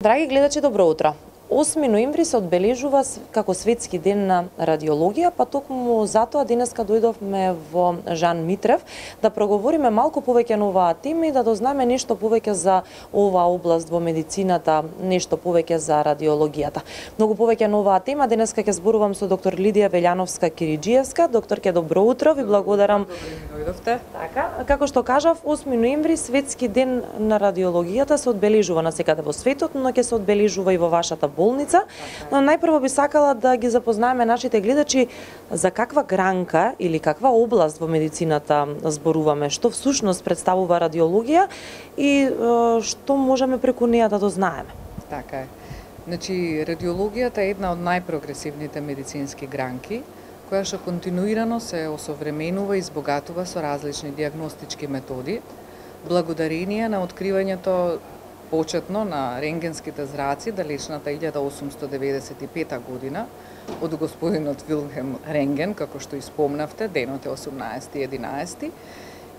Драги гледачи, добро утро. 8 ноември се одбележува како светски ден на радиологија, па токму затоа денеска дојдовме во Жан Митрев да проговориме малку повеќе на оваа тема и да дознаеме нешто повеќе за оваа област во медицината, нешто повеќе за радиологијата. Многу повеќе на оваа тема денеска ќе зборувам со доктор Лидија Велјановска-Кириџиевска. Докторке, добро утро, ви благодарам. Дојдовте. Така, како што кажав, 8 ноември светски ден на радиологијата се одбележува насекаде во светот, но ќе се одбележува и во вашата болница. Но најпрво би сакала да ги запознаеме нашите гледачи за каква гранка или каква област во медицината зборуваме, што всушност представува радиологија и што можеме преку неа да дознаеме. Така е. Значи, радиологијата е една од најпрогресивните медицински гранки, која што континуирано се осовременува и избогатува со различни диагностички методи, благодарение на откривањето почетно на рентгенските зраци далечната 1895 година од господинот Вилхем Рентген, како што испомнавте, денот е 18.11.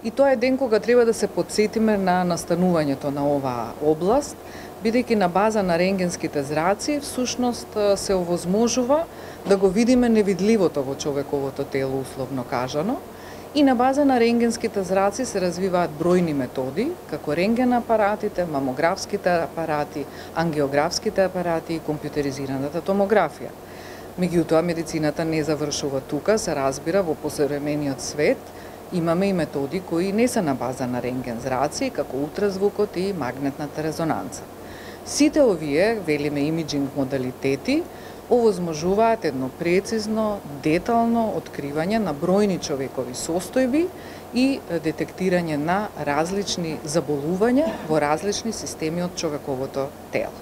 И тоа е ден кога треба да се потсетиме на настанувањето на оваа област, бидејќи на база на рентгенските зраци всушност се овозможува да го видиме невидливото во човековото тело, условно кажано. И на база на рентгенските зраци се развиваат бројни методи, како рентген апаратите, мамографските апарати, ангиографските апарати и компјутеризираната томографија. Меѓутоа, медицината не завршува тука, се разбира, во посовремениот свет имаме и методи кои не се на база на рентген зраци, како ултразвукот и магнетната резонанца. Сите овие, велиме имиджинг модалитети, овозможуваат едно прецизно, детално откривање на бројни човекови состојби и детектирање на различни заболувања во различни системи од човековото тело.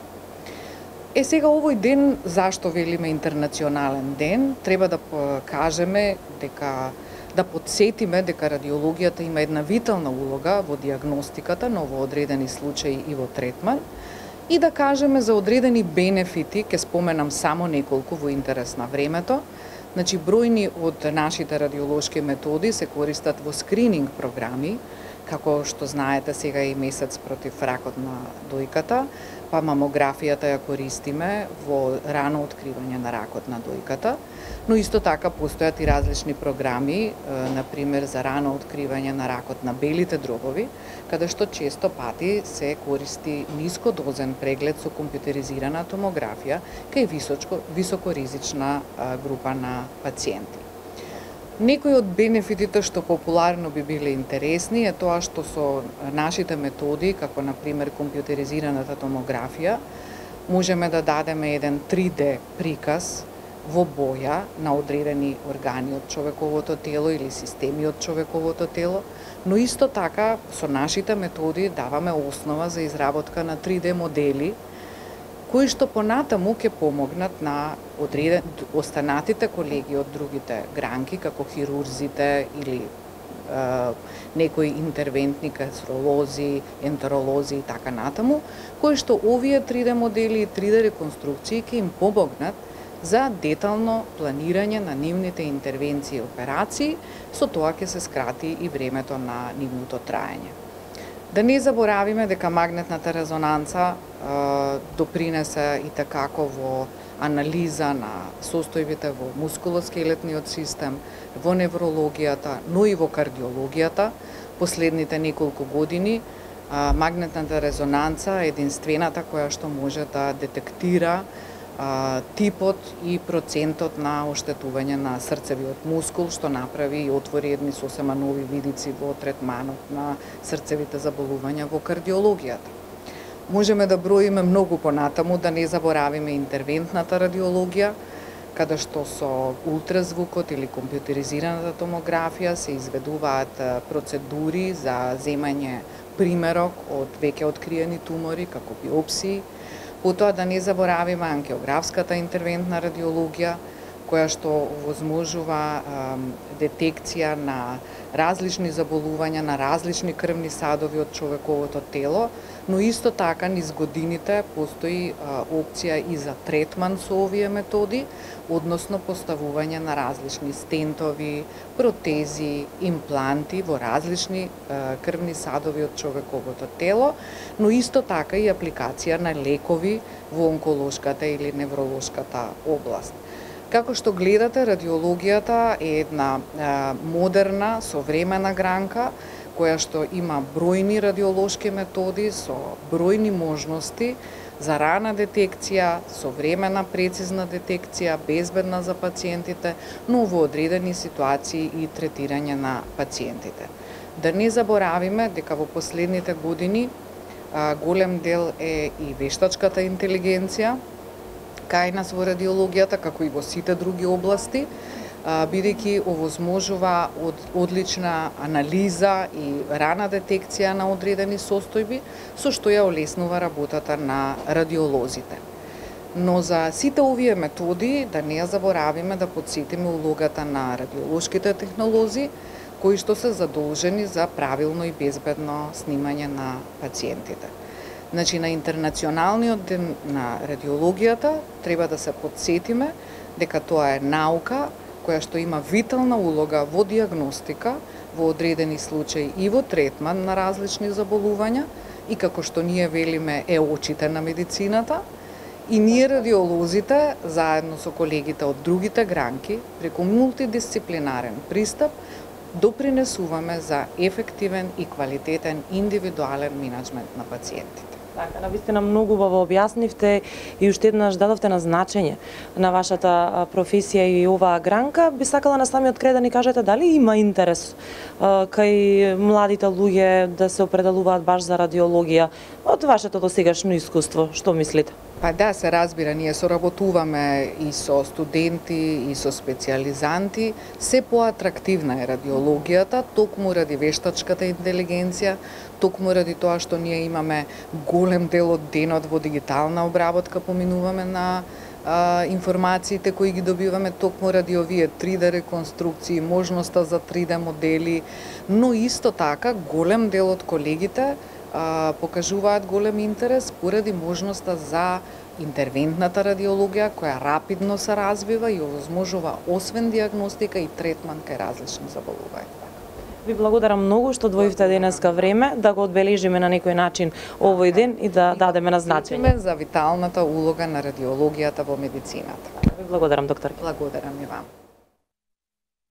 Сега овој ден, зашто велиме интернационален ден, треба да кажеме дека да потсетиме дека радиологијата има една витална улога во диагностиката, но во одредени случаи и во третман, и да кажеме за одредени бенефити, ке споменам само неколку во интерес на времето. Значи, бројни од нашите радиолошки методи се користат во скрининг програми, како што знаете сега и месец против ракот на дојката, па мамографијата ја користиме во рано откривање на ракот на дојката, но исто така постојат и различни програми, например за рано откривање на ракот на белите дробови, каде што често пати се користи нискодозен преглед со компјутеризирана томографија кај високоризична група на пациенти. Некои од бенефитите што популарно би биле интересни е тоа што со нашите методи, како например компјутеризираната томографија, можеме да дадеме еден 3D приказ во боја на одредени органи од човековото тело или системи од човековото тело, но исто така со нашите методи даваме основа за изработка на 3D модели, кои што понатаму ќе помогнат на останатите колеги од другите гранки, како хирурзите или некои интервентни кастролози, ентеролози и така натаму, кои што овие 3D модели и 3D реконструкции ќе им помогнат за детално планирање на нивните интервенции и операции, со тоа ќе се скрати и времето на нивното траење. Да не заборавиме дека магнетната резонанца допринесе и такако во анализа на состојбите во мускулоскелетниот систем, во неврологијата, но и во кардиологијата. Последните неколку години магнетната резонанца е единствената која што може да детектира типот и процентот на оштетување на срцевиот мускул, што направи и отвори едни сосема нови видици во третманот на срцевите заболувања во кардиологијата. Можеме да броиме многу понатаму, да не заборавиме интервентната радиологија, каде што со ултразвукот или компјутеризираната томографија се изведуваат процедури за земање примерок од веќе откриени тумори, како биопсии. Потоа да не заборавиме ангиографската интервентна радиологија, која што овозможува детекција на различни заболувања на различни крвни садови од човековото тело, но исто така низ годините постои опција и за третман со овие методи, односно поставување на различни стентови, протези, импланти во различни крвни садови од човековото тело, но исто така и апликација на лекови во онколошката или невролошката област. Како што гледате, радиологијата е една модерна, современа гранка, која што има бројни радиолошки методи со бројни можности за рана детекција, современа прецизна детекција, безбедна за пациентите, но во одредени ситуации и третирање на пациентите. Да не заборавиме дека во последните години голем дел е и вештачката интелигенција кај нас во радиологијата, како и во сите други области, бидејќи овозможува одлична анализа и рана детекција на одредени состојби, со што ја олеснува работата на радиолозите. Но за сите овие методи, да не ја заборавиме да подсетиме улогата на радиолошките технолози, кои што се задолжени за правилно и безбедно снимање на пациентите. Значи, на Интернационалниот ден на радиологијата треба да се подсетиме дека тоа е наука која што има витална улога во диагностика, во одредени случаи и во третман на различни заболувања, и како што ние велиме е очите на медицината, и ние радиолозите, заедно со колегите од другите гранки, преку мултидисциплинарен пристап, допринесуваме за ефективен и квалитетен индивидуален менеджмент на пациентите. Така, навистина многу убаво објаснивте и уште еднаш дадовте на значење на вашата професија и оваа гранка. Би сакала на самиот крај да ни кажете дали има интерес кај младите луѓе да се определуваат баш за радиологија од вашето досегашно искуство, што мислите? Па да, се разбира, ние соработуваме и со студенти, и со специјализанти. Се поатрактивна е радиологијата, токму ради вештачката интелигенција, токму ради тоа што ние имаме голем дел од денот во дигитална обработка, поминуваме на информациите кои ги добиваме токму ради овие 3D реконструкции, можноста за 3D модели, но исто така голем дел од колегите покажуваат голем интерес поради можноста за интервентната радиологија која рапидно се развива и овозможува освен диагностика и третман кај различни заболувања. Ви благодарам многу што одвоивте денеска време да го одбележиме на некој начин овој ден и да дадеме на значење за виталната улога на радиологијата во медицината. Ви благодарам, доктор. Благодарам и вам.